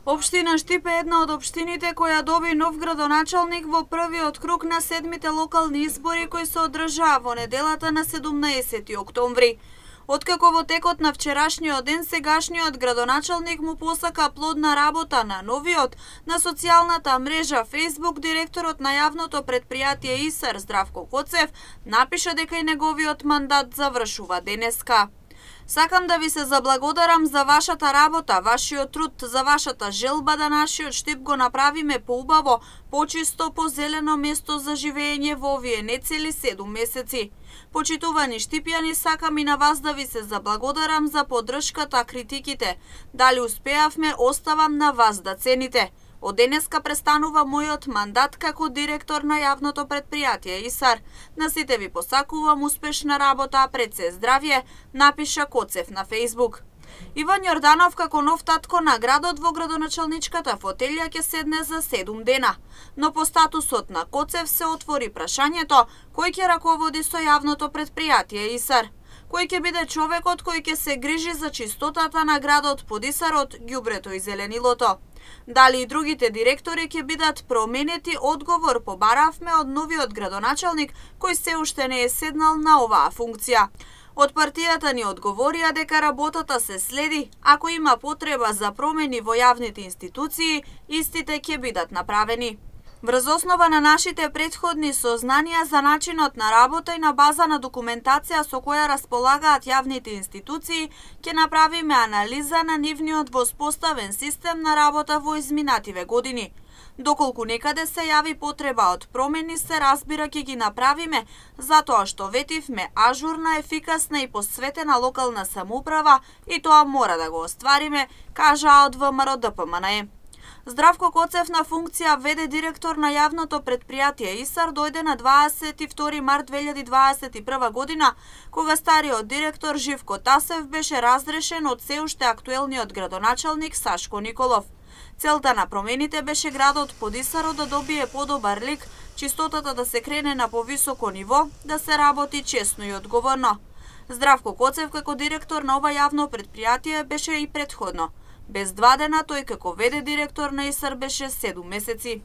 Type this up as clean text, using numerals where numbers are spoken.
Општина Штип е една од општините која доби нов градоначалник во првиот круг на 7-мите локални избори кои се одржаа во неделата на 17 октомври. Откако во текот на вчерашниот ден сегашниот градоначалник му посака плодна работа на новиот, на социјалната мрежа Facebook директорот на јавното претпријатие ИСАР Здравко Коцев напиша дека и неговиот мандат завршува денеска. Сакам да ви се заблагодарам за вашата работа, вашиот труд, за вашата желба да нашиот Штип го направиме поубаво, почисто, позелено место за живење во овие нецели 7 месеци. Почитувани штипјани, сакам и на вас да ви се заблагодарам за поддршката, критиките. Дали успеавме, оставам на вас да цените. Од денеска престанува мојот мандат како директор на јавното претпријатие ИСАР. На сите ви посакувам успешна работа, пред се здравје, напиша Коцев на Facebook. Иван Јорданов како нов татко на градот во градоначалничката фотелја ќе седне за 7 дена. Но по статусот на Коцев се отвори прашањето кој ќе раководи со јавното претпријатие ИСАР. Кој ќе биде човекот кој ќе се грижи за чистотата на градот под ИСАРот, ѓубрето и зеленилото. Дали и другите директори ќе бидат променети, одговор побаравме од новиот градоначалник кој се уште не е седнал на оваа функција. Од партијата ни одговорија дека работата се следи, ако има потреба за промени во јавните институции, истите ќе бидат направени. Врз основа на нашите претходни сознанија за начинот на работа и на база на документација со која располагаат јавните институции, ќе направиме анализа на нивниот воспоставен систем на работа во изминативе години. Доколку некаде се јави потреба од промени, се разбира ќе ги направиме, затоа што ветивме ажурна, ефикасна и посветена локална самоуправа и тоа мора да го оствариме, кажаа од ВМРО ДПМНЕ. Здравко Коцев на функција веде директор на јавното претпријатие ИСАР дојде на 22 март 2021 година, кога стариот директор Живко Тасев беше разрешен од се уште актуелниот градоначалник Сашко Николов. Целта на промените беше градот под ИСАРот да добие подобар лик, чистотата да се крене на повисоко ниво, да се работи честно и одговорно. Здравко Коцев како директор на ова јавно претпријатие беше и претходно. Без 2 дена тој како веде директор на ИСАР беше 7 месеци.